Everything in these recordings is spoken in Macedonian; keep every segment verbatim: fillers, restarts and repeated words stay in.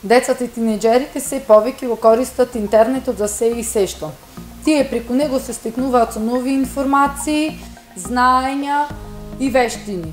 Децата и тинеџерите се повеќе го користат интернетот за се и сешто. Тие преку него се стекнуваат со нови информации, знаења и вештини.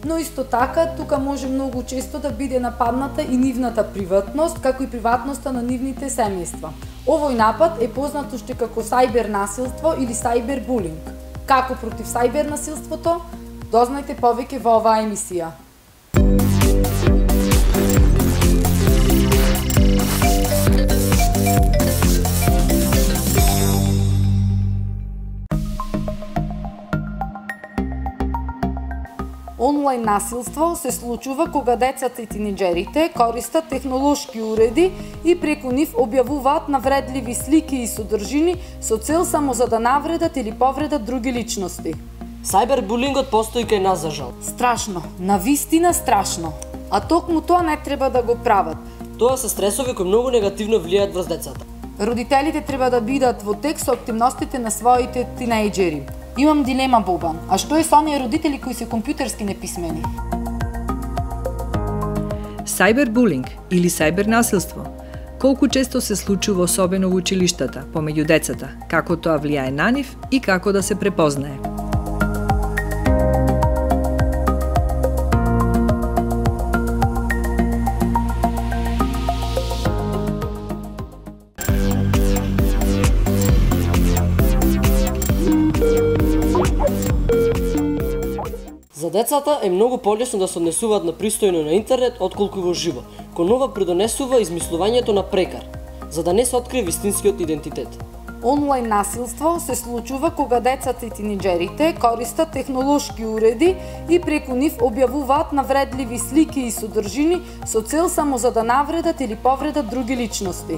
Но исто така, тука може многу често да биде нападната и нивната приватност, како и приватноста на нивните семејства. Овој напад е познат уште како сајбер насилство или сајбер булинг. Како против сајбер насилството? Дознајте повеќе во оваа емисија. Онлайн насилство се случува кога децата и тинеџерите користат технолошки уреди и преку нив објавуваат навредливи слики и содржини со цел само за да навредат или повредат други личности. Сајбербулингот постои кај нас, за жал. Страшно, навистина страшно. А токму тоа не треба да го прават. Тоа се стресови кои многу негативно влијаат врз децата. Родителите треба да бидат во тек со активностите на своите тинеџери. Имам дилема, Бобан. А што е со оние родители кои се компјутерски неписмени? Сајбербулинг или сајбернасилство. Колку често се случува особено во училиштата, помеѓу децата, како тоа влијае на нив и како да се препознае. За децата е многу полесно да се однесуваат на пристојно на интернет отколку во живо, кој нова придонесува измислувањето на прекар, за да не се открие вистинскиот идентитет. Онлайн насилство се случува кога децата и тинеџерите користат технолошки уреди и преку нив објавуваат навредливи слики и содржини со цел само за да навредат или повредат други личности.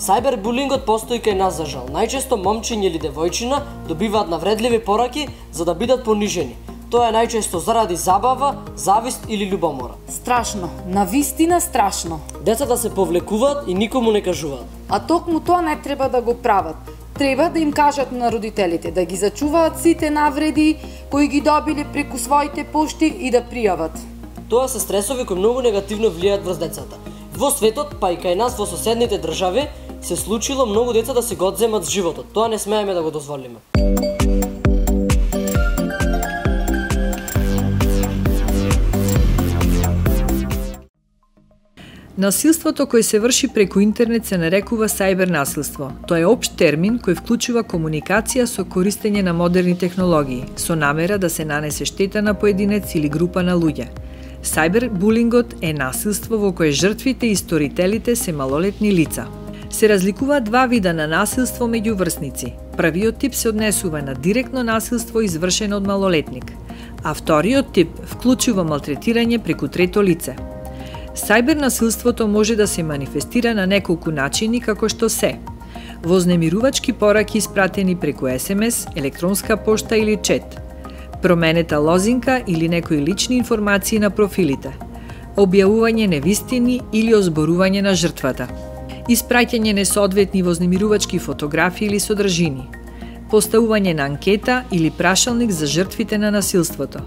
Сајбербулингот постои кај нас, за жал. Најчесто момчиња или девојчина добиваат навредливи пораки за да бидат понижени. Тоа е најчесто заради забава, завист или љубомора. Страшно, навистина страшно. Децата се повлекуваат и никому не кажуваат. А токму тоа не треба да го прават. Треба да им кажат на родителите да ги зачуваат сите навреди кои ги добиле преку своите пошти и да пријават. Тоа се стресови кои многу негативно влијаат врз децата. Во светот, па и кај нас во соседните држави, се случило многу деца да се го одземат животот. Тоа не смееме да го дозволиме. Насилството кој се врши преку интернет се нарекува сајбернасилство. Тоа е општ термин кој вклучува комуникација со користење на модерни технологии, со намера да се нанесе штета на поединец или група на луѓе. Сајбербулингот е насилство во кое жртвите и сторителите се малолетни лица. Се разликуваат два вида на насилство меѓу врсници. Првиот тип се однесува на директно насилство извршено од малолетник, а вториот тип вклучува малтретирање преку трето лице. Сајбернасилството може да се манифестира на неколку начини како што се: вознемирувачки пораки испратени преку ес ем ес, електронска пошта или чет, променета лозинка или некои лични информации на профилите, објавување невистини или озборување на жртвата, испраќање несоодветни вознемирувачки фотографии или содржини, поставување на анкета или прашалник за жртвите на насилството,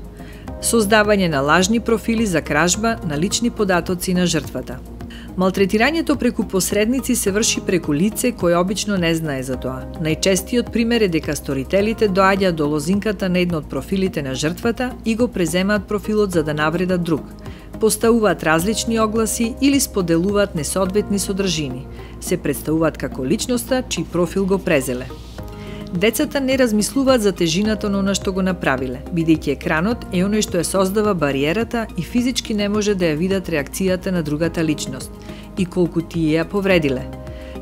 создавање на лажни профили за кражба на лични податоци на жртвата. Малтретирањето преку посредници се врши преку лице кој обично не знае за тоа. Најчестиот пример е дека сторителите доаѓаат до лозинката на едно од профилите на жртвата и го преземаат профилот за да навредат друг. Поставуваат различни огласи или споделуваат несоодветни содржини. Се представуваат како личноста чиј профил го презеле. Децата не размислуваат за тежината на она што го направиле, бидејќи екранот е оној што ја создава бариерата и физички не може да ја видат реакцијата на другата личност и колку тие ја повредиле.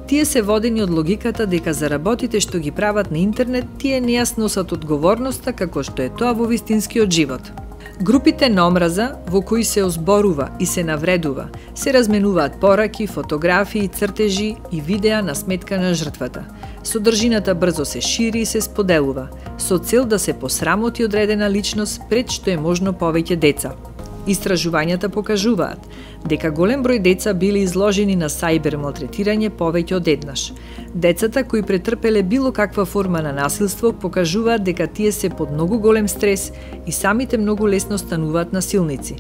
Тие се водени од логиката дека за работите што ги прават на интернет, тие не ја сносат одговорноста како што е тоа во вистинскиот живот. Групите на омраза, во кои се озборува и се навредува, се разменуваат пораки, фотографии, цртежи и видеа на сметка на жртвата. Содржината брзо се шири и се споделува, со цел да се посрамоти одредена личност пред што е можно повеќе деца. Истражувањата покажуваат дека голем број деца били изложени на сајбер малтретирање повеќе од еднаш. Децата кои претрпеле било каква форма на насилство покажуваат дека тие се под многу голем стрес и самите многу лесно стануваат насилници.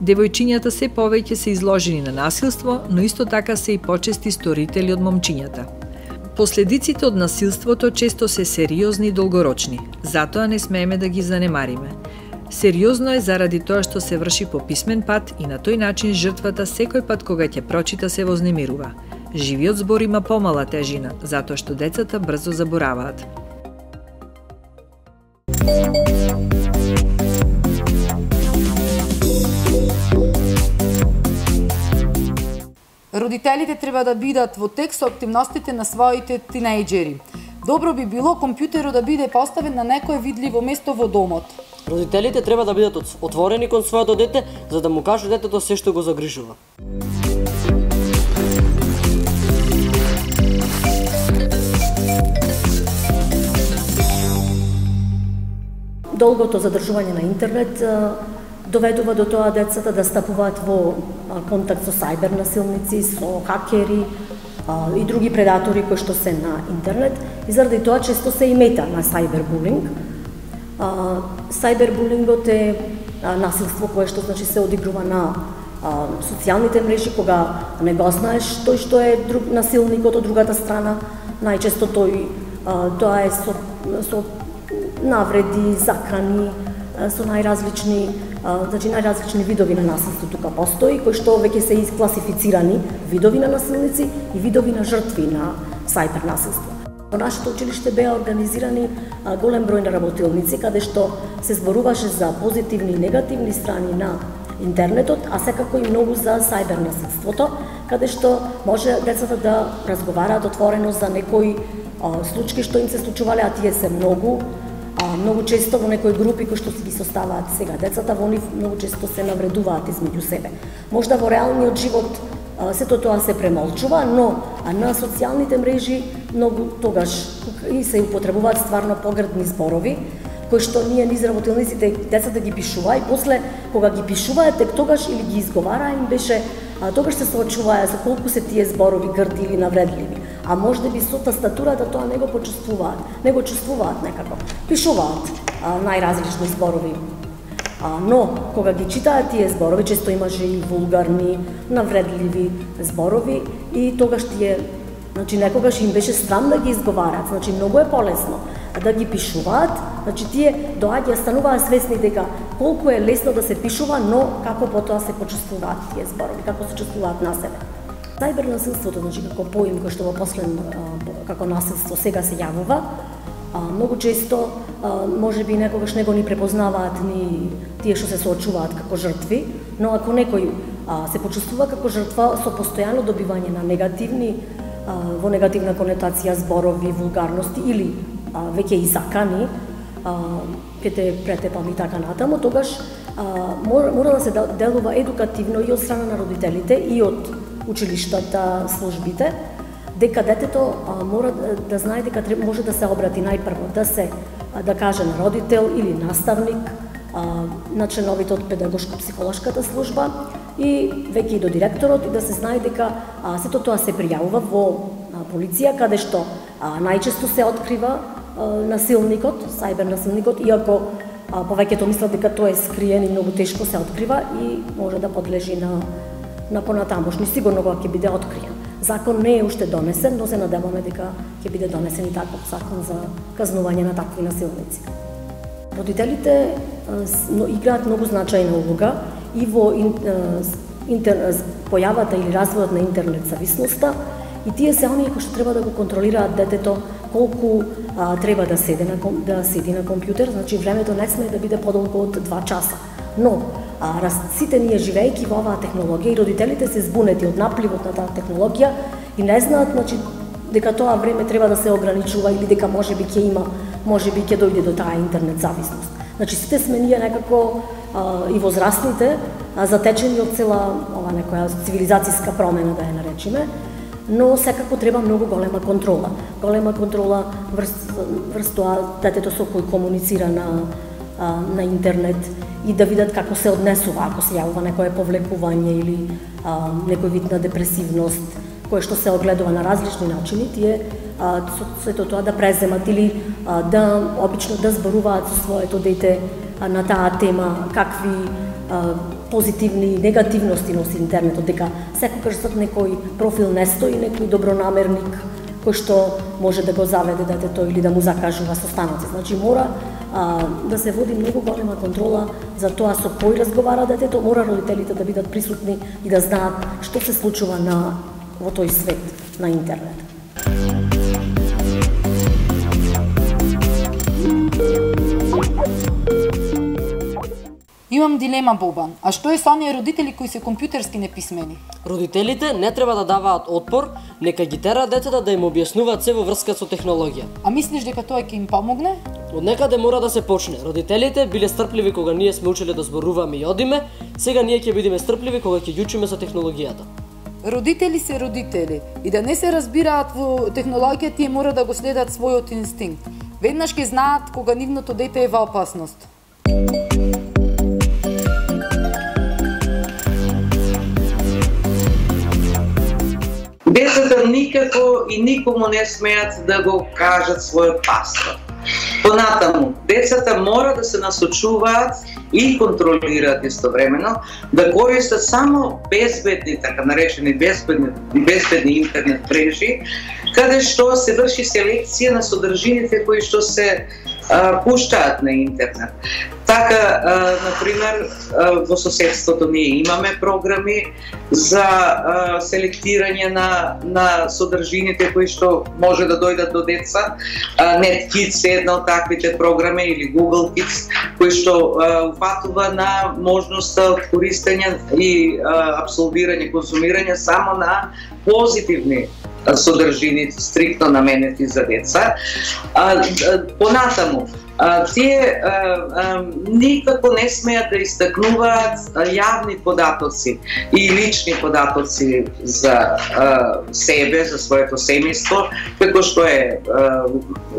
Девојчињата се повеќе се изложени на насилство, но исто така се и почести сторители од момчињата. Последиците од насилството често се сериозни и долгорочни, затоа не смееме да ги занемариме. Сериозно е заради тоа што се врши по писмен пат и на тој начин жртвата секој пат кога ќе прочита се вознемирува. Живиот збор има помала тежина, затоа што децата брзо забораваат. Родителите треба да бидат во тек со активностите на своите тинејџери. Добро би било компјутерот да биде поставен на некое видливо место во домот. Родителите треба да бидат отворени кон своето дете, за да му кажат детето се што го загрижува. Долгото задржување на интернет доведува до тоа децата да стапуваат во контакт со сајбер насилници, со хакери и други предатори кои што се на интернет, и заради тоа често се и мета на сајбербулинг. Сајбербулингот е насилство кое што значи се одигрува на социјалните мрежи, кога не го знаеш тој што е друг насилникот од другата страна. Најчесто тој тоа е со, со навреди, закани, со најразлични, значи најразлични видови на насилство тука постои, кои што веќе се искласифицирани видови на насилници и видови на жртви на сајбер насилство. Во нашето училиште беа организирани голем број на работилници, каде што се зборуваше за позитивни и негативни страни на интернетот, а секако и многу за сајбер насилството, каде што може децата да разговараат отворено за некои случаи што им се случувале, а тие се многу. А, многу често во некои групи кои што си ги составаат сега децата, во нив многу често се навредуваат измеѓу себе. Можда во реалниот живот а, сето тоа се премолчува, но а на социјалните мрежи многу тогаш и се употребуваат стварно погрдни зборови, кои што ние низ работилниците децата ги пишуваа, и после кога ги пишуваа тек тогаш или ги изговараа, им беше а, тогаш се соочуваа за колку се тие зборови грди или навредливи. А може би со тастатурата тоа не го почувствуваат, не го чувствуваат некако. Пишуваат а, најразлични зборови. А, но кога ги читаат тие зборови, често имаше и вулгарни, навредливи зборови, и тогаш тие, значи некогаш им беше страм да ги изговарат, значи многу е полесно да ги пишуваат, значи тие доаѓа стануваа свесни дека колку е лесно да се пишува, но како потоа се почувствуваат тие зборови, како се чувствуваат на себе. Сајбер насилството, значи како поим кој што во последно како насилство сега се јавува, многу често можеби некогаш него ни препознаваат ни тие што се соочуваат како жртви, но ако некој се почувствува како жртва со постојано добивање на негативни во негативна конотација зборови, вулгарности или веќе и закани, ќе те претепам и така натаму, тогаш мора, мора да се делува едукативно и од страна на родителите и од училиштата, службите, дека детето а, мора да, да знае дека може да се обрати најпрво, да се а, да каже на родител или наставник, а, на членовите од педагошко-психолошката служба и веќе и до директорот, и да се знае дека а, сето тоа се пријавува во а, полиција, каде што а, најчесто се открива а, насилникот, сајбер насилникот, иако а, повеќето мислат дека тоа е скриен и многу тешко се открива и може да подлежи на на понатамошни, сигурно кога ќе биде откриен. Закон не е уште донесен, но се надеваме дека ќе биде донесен и таков закон за казнување на такви насилници. Родителите но играат многу значајна улога и во интер, појавата или развојот на интернет зависноста, и тие се оние кои што треба да го контролираат детето колку а, треба да седи на да седи на компјутер, значи времето не сме да биде подолго од два часа. Но а, раз, сите ние живејќи во оваа технологија и родителите се збунети од напливот на таа технологија и не знаат, значи, дека тоа време треба да се ограничува или дека можеби ќе има, можеби ќе дојде до таа интернет зависност. Значи сите сме ние некако а, и возрастните а, затечени од цела ова некоја цивилизацијска промена, да ја наречиме, но секако треба многу голема контрола. Голема контрола врз, врз тоа детето со кој комуницира на, а, на интернет и да видат како се однесува ако се јавува некое повлекување или а, некој вид на депресивност, кое што се огледува на различни начини, тие а, со сето тоа да преземат или а, да обично да зборуваат со своето дете а, на таа тема, какви а, позитивни и негативности носи интернетот, дека секогаш зад некој профил не стои некој добронамерник кој што може да го заведе детето или да му закажува состаноци. Значи мора а, да се води многу голема контрола за тоа со кој разговара детето, мора родителите да бидат присутни и да знаат што се случува на во тој свет на интернет. Имам дилема, Бобан. А што е со оние родители кои се компјутерски неписмени? Родителите не треба да даваат отпор, нека ги тера децата да им објаснуваат се во врска со технологија. А мислиш дека тоа ќе им помогне? Од некаде мора да се почне. Родителите биле стрпливи кога ние сме учеле да зборуваме и одиме, сега ние ќе бидеме стрпливи кога ќе ги учиме со технологијата. Родители се родители и да не се разбираат во технологија, тие мора да го следат својот инстинкт. Веднаш ќе знаат кога нивното дете е во опасност. Децата никако и никому не смеат да го кажат својот паспорт. Понатаму, децата мора да се насочуваат и контролираат истовремено, да користат само безбедни, така наречени безбедни, безбедни интернет мрежи, каде што се врши селекција на содржините кои што се а, пуштаат на интернет. Така, а, например, а, во соседството ние имаме програми за а, селектирање на, на содржините кои што може да дојдат до деца. А, NetKids е една од таквите програми или Google Kids, кои што а, упатува на можноста од користење и а, абсолвирање, консумирање само на позитивни содржини стриктно наменети за деца. А, понатаму, а, тие а, а, никако не смеат да истакнуваат јавни податоци и лични податоци за а, себе, за своето семејство, како што е а,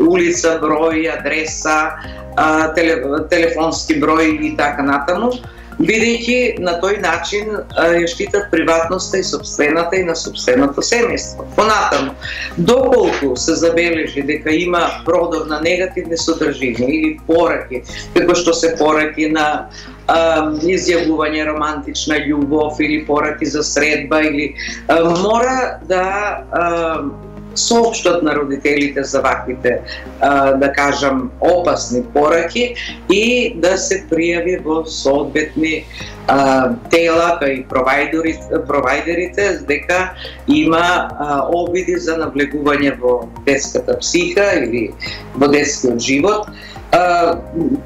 улица, број, адреса, а, теле, телефонски број и така натаму, бидејќи на тој начин ја штитат приватноста и собствената и на собственото семејство. Понатаму, доколку се забележи дека има продор на негативни содржини или пораки, како што се пораки на а, изјавување романтична љубов или пораки за средба, или а, мора да а, соопштат на родителите за ваквите, да кажам, опасни пораки и да се пријави во соодветни тела кај провајдерите дека има обиди за навлегување во детската психа или во детскиот живот.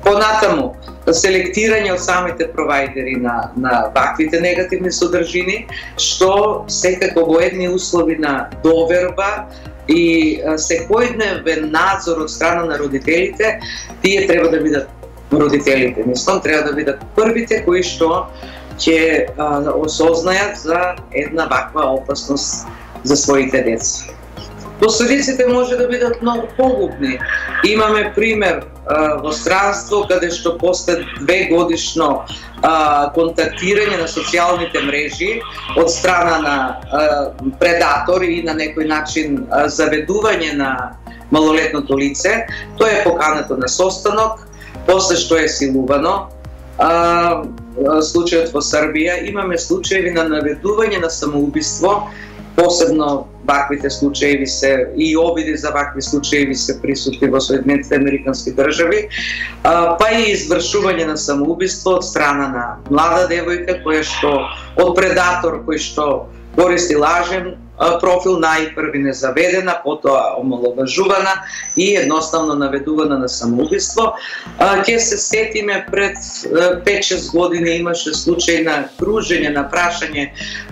Понатаму, селектирање од самите провајдери на, на ваквите негативни содржини, што секако во едни услови на доверба и секојдневен надзор од страна на родителите, тие треба да бидат родителите. Мислам, треба да бидат првите кои што ќе осознајат за една ваква опасност за своите деца. Последиците може да бидат многу погубни. Имаме пример а, во странство каде што после две годишно а, контактирање на социјалните мрежи од страна на а, предатори и на некој начин а, заведување на малолетното лице, тоа е покането на состанок, после што е силувано. А, случајот во Србија, имаме случаеви на наведување на самоубиство, посебно ваквите случаи се и обиди за вакви случаи се присутни во Соединетите американски држави, а, па и извршување на самоубиство од страна на млада девојка која што од предатор кој што користи лажен профил, најпрви незаведена, потоа омаловажувана и едноставно наведувана на самоубиство. Ќе се сетиме пред пет-шест години имаше случај на кружење, на прашање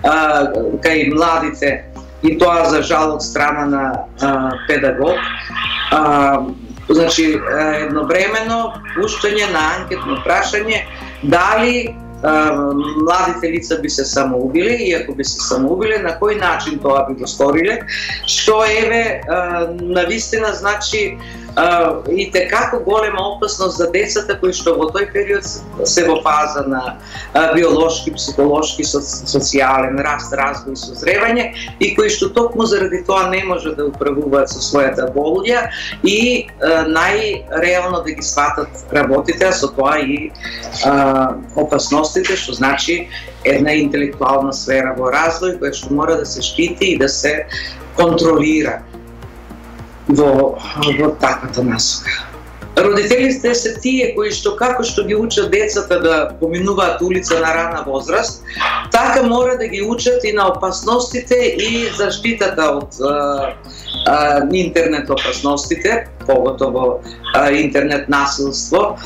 а, кај младите, и тоа за жал од страна на а, педагог. А, значи, едновремено пуштање на анкетно прашање дали младите лица би се самоубиле и ако би се самоубиле, на кој начин тоа би го сториле, што еве навистина значи и те како голема опасност за децата кои што во тој период се во фаза на биолошки, психолошки, социјален раст, развој и созревање и кои што токму заради тоа не може да управуваат со својата болја и најреално да ги сватат работите, а со тоа и а, опасностите, што значи една интелектуална сфера во развој која што мора да се штити и да се контролира во, во таквата насока. Родителите се тие кои што како што ги учат децата да поминуваат улица на рана возраст, така мора да ги учат и на опасностите и заштитата од а, а, интернет опасностите, поготово а, интернет насилство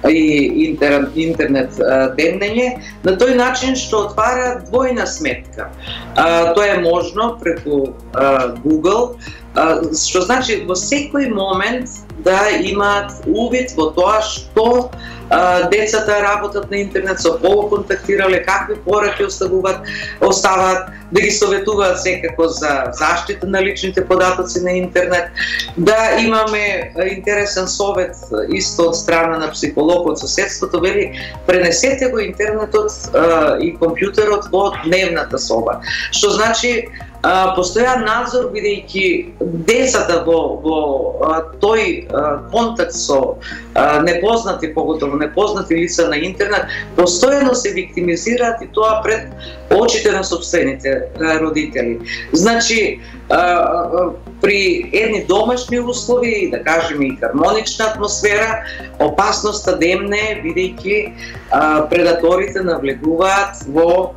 и интернет, интернет демнење, на тој начин што отвара двојна сметка. А, тоа е можно преку а, Google, а, што значи во секој момент да имаат увид во тоа што а, децата работат на интернет, со кого контактирале, какви пораки оставуваат, оставаат, да ги советуваат секако за заштита на личните податоци на интернет, да имаме интересен совет исто од страна на психолог од соседството, вели пренесете го интернетот а, и компјутерот во дневната соба. Што значи Uh, постојан надзор, бидејќи децата во, во uh, тој uh, контакт со uh, непознати, поготово непознати лица на интернет, постојано се виктимизираат и тоа пред очите на собствените uh, родители. Значи, uh, при едни домашни услови, да кажеме и хармонична атмосфера, опасноста демне, бидејќи uh, предаторите навлегуваат во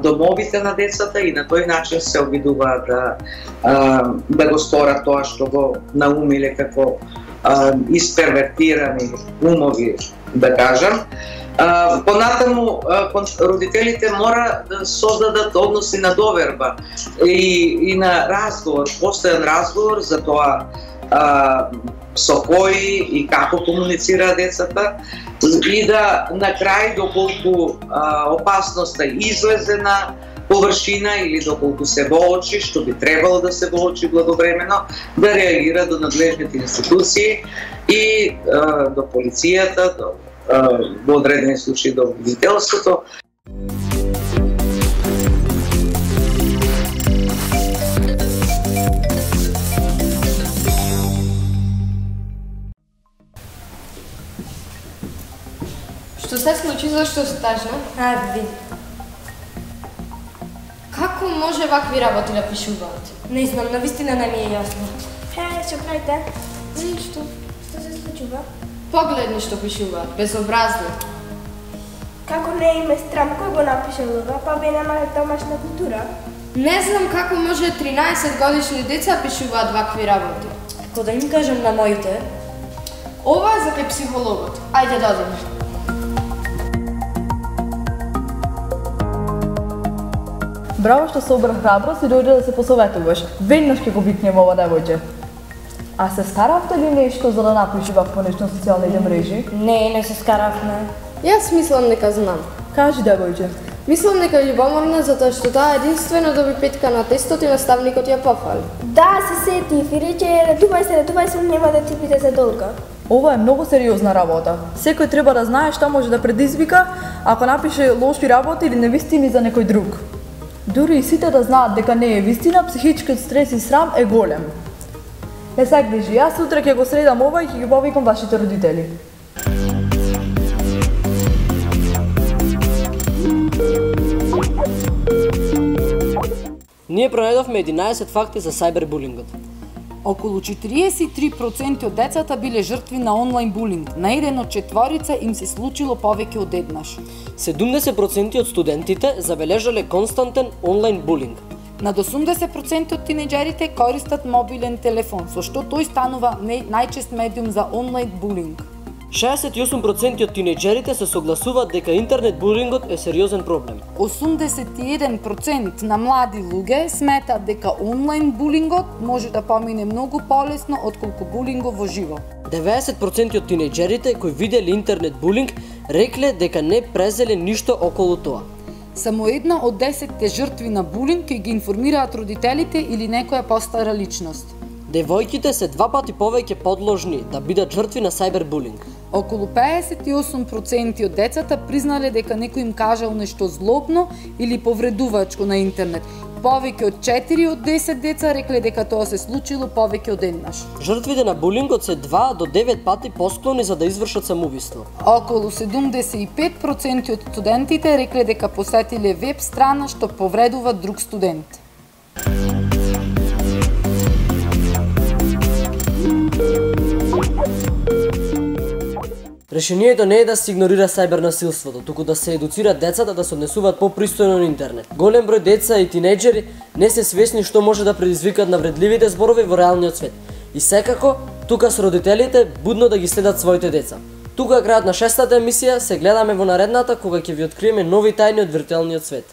домовите на децата и на тој начин се обидуваат да, да го сторат тоа што го наумиле како испервертирани умови, да кажам. Понатаму, родителите мора да создадат односи на доверба и, и на разговор, постојан разговор за тоа со кои и како комуницираат децата и да на крај доколку а, опасноста излезе на површина или доколку се воочи, што би требало да се воочи благовремено, да реагира до надлежните институции и а, до полицијата, до, а, во одредени случаи до родителството. Што се случи, зашто се тажна? А, види. Како може вакви работи да пишуваат? Не знам, навистина не ми е јасно. Хе, што правите? Ништо. Што се случува? Погледни што пишуваат, безобразно. Како не им е страм, кој го напишал ова, па вие немате домашна култура? Не знам како може тринаесет годишни деца пишуваат вакви работи. Како да им кажам на моите? Ова е за кај психологот. Ајде да одиме. Браво што собра храброст и дојде да се посоветуваш. Веднаш ќе го викнем ова девојче. А се скаравте ли нешто за да напиши вакво нешто на социјалните мрежи? Не, не се скаравме. Јас мислам дека знам. Кажи девојче. Мислам дека љубоморна затоа што таа единствено доби петка на тестот и наставникот ја пофали. Да, се сетив и рече редувај се, редувај се, нема да ти биде за долга. Ова е многу сериозна работа. Секој треба да знае што може да предизвика ако напише лоши работи или невистини за некој друг. Дури и сите да знаат дека не е вистина, психичкиот стрес и срам е голем. Не се грижи, јас утре ќе го средам ова и ќе ги повикам вашите родители. Ние пронајдовме единаесет факти за сајбербулингот. Околу четириесет и три проценти од децата биле жртви на онлайн булинг. На еден од четворица им се случило повеќе од еднаш. седумдесет проценти од студентите забележале константен онлайн булинг. Над осумдесет проценти од тинеџерите користат мобилен телефон, со што тој станува најчест медиум за онлайн булинг. шеесет и осум проценти од тинеџерите се согласуваат дека интернет булингот е сериозен проблем. осумдесет и еден проценти на млади луѓе сметаат дека онлайн булингот може да помине многу полесно отколку булингот во живо. деветдесет проценти од тинеџерите кои виделе интернет булинг рекле дека не презеле ништо околу тоа. Само една од десетте жртви на булинг ќе ги информираат родителите или некоја постара личност. Девојките се два пати повеќе подложни да бидат жртви на сајбербулинг. Околу педесет и осум проценти од децата признале дека некој им кажал нешто злобно или повредувачко на интернет. Повеќе од четири од десет деца рекле дека тоа се случило повеќе од еднаш. Жртвите на булингот се два до девет пати посклони за да извршат самоубиство. Околу седумдесет и пет проценти од студентите рекле дека посетиле веб страна што повредува друг студент. Решението не е да се игнорира сајбернасилството, туку да се едуцираат децата да се однесуваат попристојно на интернет. Голем број деца и тинејџери не се свесни што може да предизвикаат навредливите зборови во реалниот свет. И секако, тука со родителите будно да ги следат своите деца. Тука крајот на шестата емисија, се гледаме во наредната кога ќе ви откриеме нови тајни од виртуелниот свет.